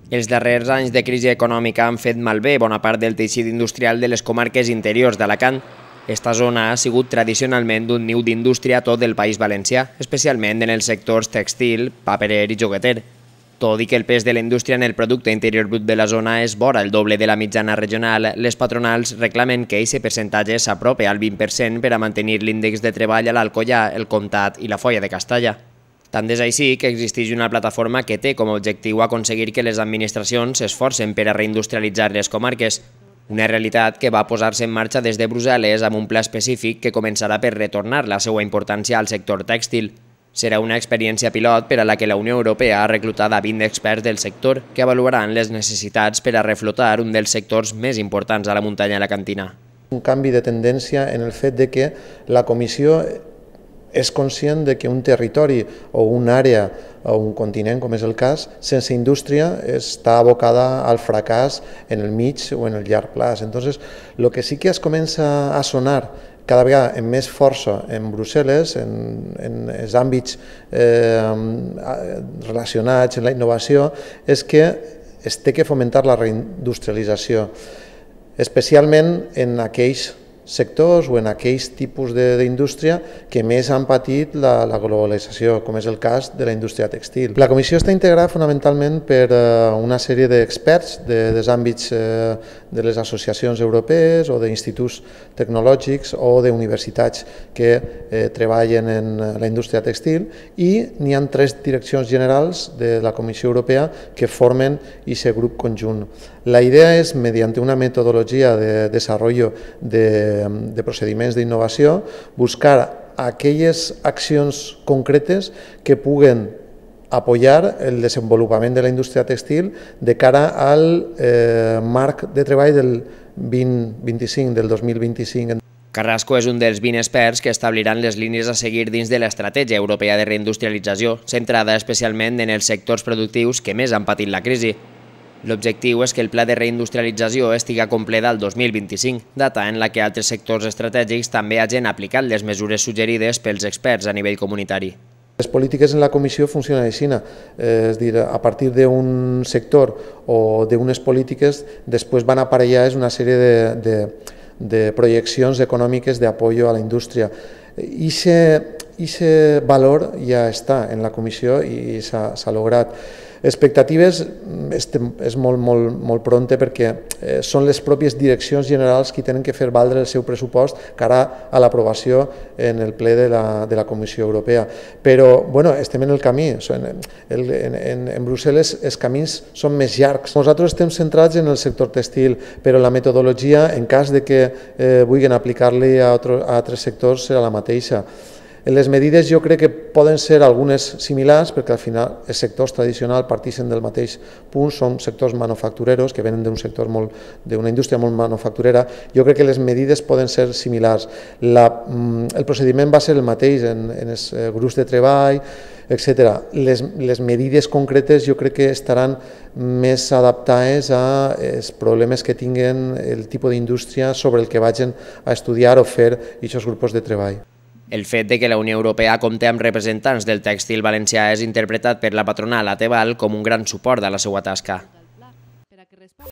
Els darrers anys de crisi econòmica han fet malbé bona part del teixit industrial de les comarques interiors d'Alacant. Esta zona ha sigut tradicionalment un niu d'indústria a tot el País Valencià, especialment en els sectors tèxtil, paperer i jogueter. Tot i que el pes de la indústria en el producte interior brut de la zona és vora el doble de la mitjana regional, les patronals reclamen que aquest percentatge s'apropi al 20% per a mantenir l'índex de treball a l'Alcoià, el Comtat i la Foia de Castalla. Tant és així que existeix una plataforma que té com a objectiu aconseguir que les administracions s'esforcen per a reindustrialitzar les comarques, una realitat que va posar-se en marxa des de Brussel·les amb un pla específic que començarà per retornar la seva importància al sector tèxtil. Serà una experiència pilot per a la que la Unió Europea ha reclutat a 20 experts del sector que avaluaran les necessitats per a reflotar un dels sectors més importants a la muntanya alacantina. Un canvi de tendència en el fet de que la Comissió és conscient de que un territori o una àrea o un continent, com és el cas, sense indústria està abocada al fracàs en el mig o en el llarg plaç. Entonces, lo que sí que es comença a sonar cada vegada amb més força en Brussel·les, en els àmbits relacionats amb la innovació, és que es té que fomentar la reindustrialització, especialment en aquells sectors o en aquells tipus d'indústria que més han patit la globalització, com és el cas de la indústria tèxtil. La comissió està integrada fonamentalment per una sèrie d'experts dels àmbits de les associacions europees o d'instituts tecnològics o d'universitats que treballen en la indústria tèxtil i n'hi ha 3 direccions generals de la Comissió Europea que formen aquest grup conjunt. La idea és, mediante una metodologia de desenvolupament de procediments d'innovació, buscar aquelles accions concretes que puguen apoyar el desenvolupament de la indústria tèxtil de cara al marc de treball del 2025, del 2025. Carrasco és un dels 20 experts que establiran les línies a seguir dins de l'estratègia europea de reindustrialització, centrada especialment en els sectors productius que més han patit la crisi. L'objectiu és que el pla de reindustrialització estigui complet al 2025, data en la que altres sectors estratègics també hagin aplicat les mesures suggerides pels experts a nivell comunitari. Les polítiques en la Comissió funcionen així, és a dir, a partir d'un sector o d'unes polítiques després van aparellar una sèrie de projeccions econòmiques d'apoyo a la indústria. Aquest valor ja està en la Comissió i s'ha lograt. Expectatives és molt pronte perquè són les pròpies direccions generals qui tenen que fer valdre el seu pressupost cara a l'aprovació en el ple de la Comissió Europea. Però estem en el camí. En Brussel·les els camins són més llargs. Nosaltres estem centrats en el sector tèxtil, però la metodologia, en cas de que vulguin aplicar-li a altres sectors, serà la mateixa. Les medides jo crec que poden ser algunes similars perquè al final els sectors tradicionals parteixen del mateix punt, són sectors manufactureros que venen d'una indústria molt manufacturera. Jo crec que les medides poden ser similars. El procediment va ser el mateix en els grups de treball, etc. Les medides concretes jo crec que estaran més adaptades als problemes que tinguen el tipus d'indústria sobre el que vagin a estudiar o fer aquests grups de treball. El fet de que la Unió Europea compti amb representants del tèxtil valencià és interpretat per la patronal Ateval com un gran suport a la seva tasca.